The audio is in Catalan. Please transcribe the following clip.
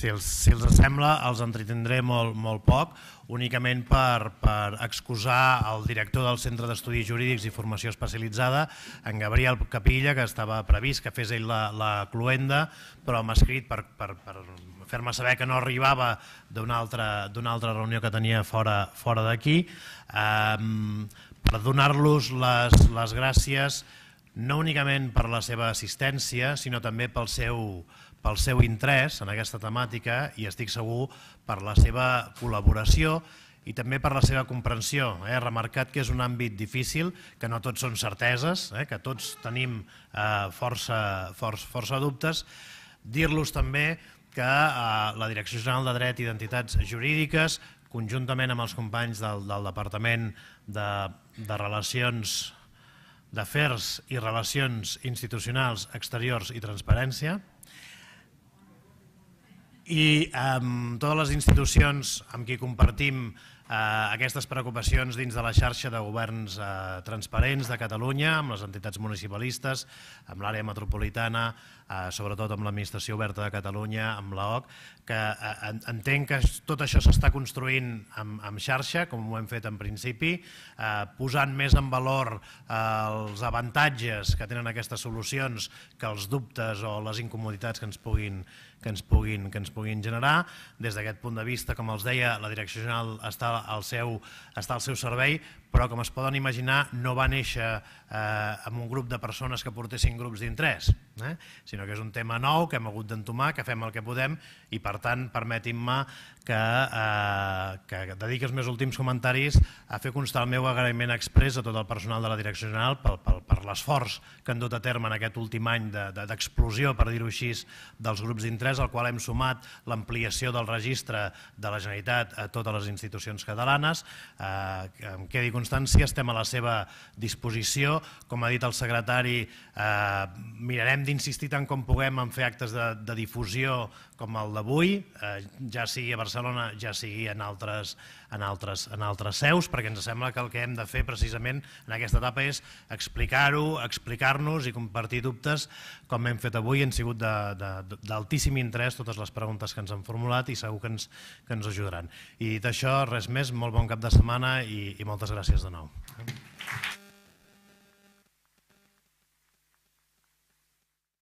Si els sembla, els entretindré molt poc, únicament per excusar el director del Centre d'Estudis Jurídics i Formació Especialitzada, en Gabriel Capilla, que estava previst que fes ell la cloenda, però m'ha escrit per fer-me saber que no arribava d'una altra reunió que tenia fora d'aquí, per donar-los les gràcies no únicament per la seva assistència, sinó també pel seu interès en aquesta temàtica i estic segur per la seva col·laboració i també per la seva comprensió. He remarcat que és un àmbit difícil, que no tots són certeses, que tots tenim força dubtes. Dir-los també que la Direcció General de Dret i d'Entitats Jurídiques, conjuntament amb els companys del Departament de Relacions d'Afers i Relacions Institucionals Exteriors i Transparència, i totes les institucions amb qui compartim aquestes preocupacions dins de la xarxa de governs transparents de Catalunya, amb les entitats municipalistes, amb l'àrea metropolitana, sobretot amb l'Administració Oberta de Catalunya, amb l'AOC, que entenc que tot això s'està construint en xarxa, com ho hem fet en principi, posant més en valor els avantatges que tenen aquestes solucions que els dubtes o les incomoditats que ens puguin generar. Des d'aquest punt de vista, com els deia, la Direcció General està al seu servei, però com es poden imaginar no va néixer amb un grup de persones que portessin grups d'interès, sinó que és un tema nou que hem hagut d'entomar, que fem el que podem i per tant permetin-me que dediqui els meus últims comentaris a fer constar el meu agraïment exprés a tot el personal de la Direcció General per l'esforç que han dut a terme en aquest últim any d'explosió, per dir-ho així, dels grups d'interès, al qual hem sumat l'ampliació del registre de la Generalitat a totes les institucions catalanes. Em quedi constància, estem a la seva disposició. Com ha dit el secretari, mirarem d'insistir tant com puguem en fer actes de difusió com el d'avui, ja sigui a Barcelona, ja sigui en altres seus, perquè ens sembla que el que hem de fer precisament en aquesta etapa és explicar-ho, explicar-nos i compartir dubtes com hem fet avui. Han sigut d'altíssim interès totes les preguntes que ens han formulat i segur que ens ajudaran. I dit això, res més, molt bon cap de setmana i moltes gràcies de nou.